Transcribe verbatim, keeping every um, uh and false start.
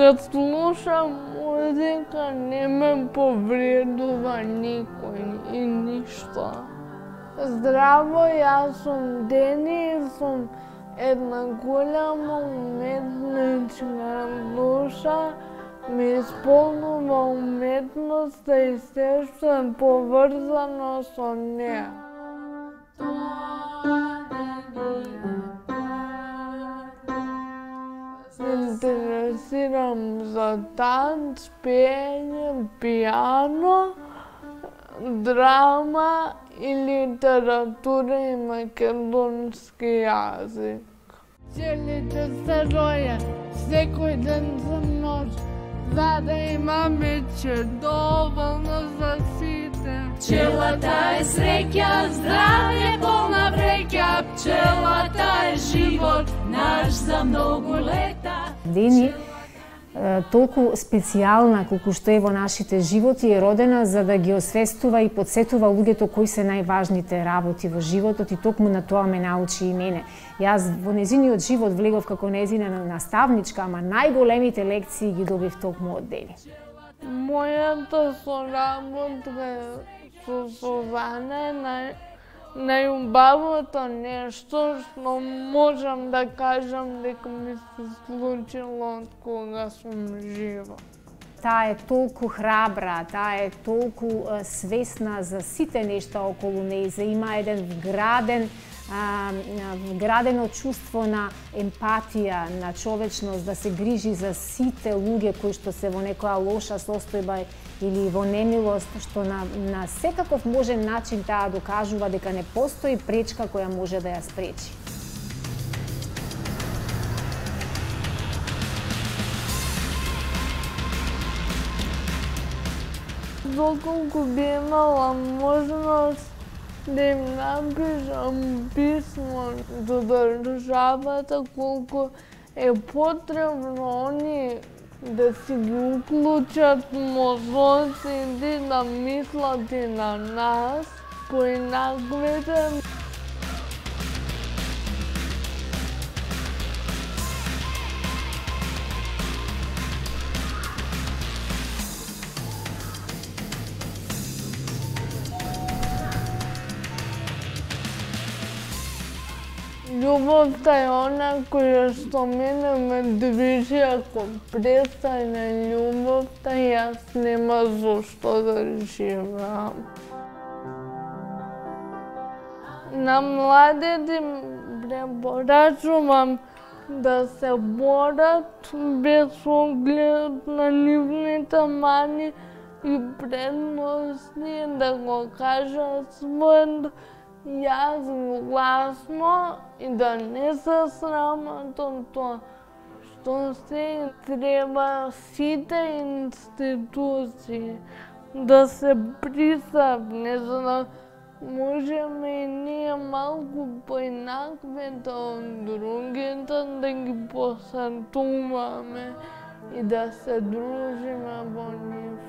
Кога слушам музика, не ме повредува никој и ништо. Здраво, јас сум Дени и сум една голема уметничка душа. Ме исполнува уметноста и се што е поврзано со неа. Се интересирам за танц, пеење, пијано, драма и литература и македонски јазик. Пчелите се ројат секој ден за нож, за да имаме че доволно за сите. Пчелата е среќа, здравје, полна вреќа, пчелата е живот наш за многу лета. Дени, толку специјална колку што е во нашите животи, е родена за да ги освестува и подсетува луѓето кои се најважните работи во животот и токму на тоа ме научи и мене. Јас во незиниот живот влегов како незина наставничка, ама најголемите лекции ги добив токму од Дени. Мојата соработка со Сузана е нај најубавото нешто што можам да кажам дека ми се случило од кога сум жива. Таа е толку храбра, таа е толку свесна за сите нешта околу нејзе, има еден вграден а, вградено чувство на емпатија, на човечност, да се грижи за сите луѓе кои што се во некоја лоша состојба или во немилост, што на, на секаков можен начин таа докажува дека не постои пречка која може да ја спречи. Доколку би имала можност да им напишам писмо до државата колку е потребно они да си ги уклучат мозоците, да мислат и на нас, поинаквите. Љубовта е она која што мене ме движи, ако престане љубовта, јас нема зошто да живеам. На младите препорачувам да се борат без оглед на нивните мани и предности, да го кажат својот јас гласно и да не се срамат од тоа што се треба сите институции да се присапне, за да можеме и ние малку поинаквите од другите да ги посетуваме и да се дружиме во нив.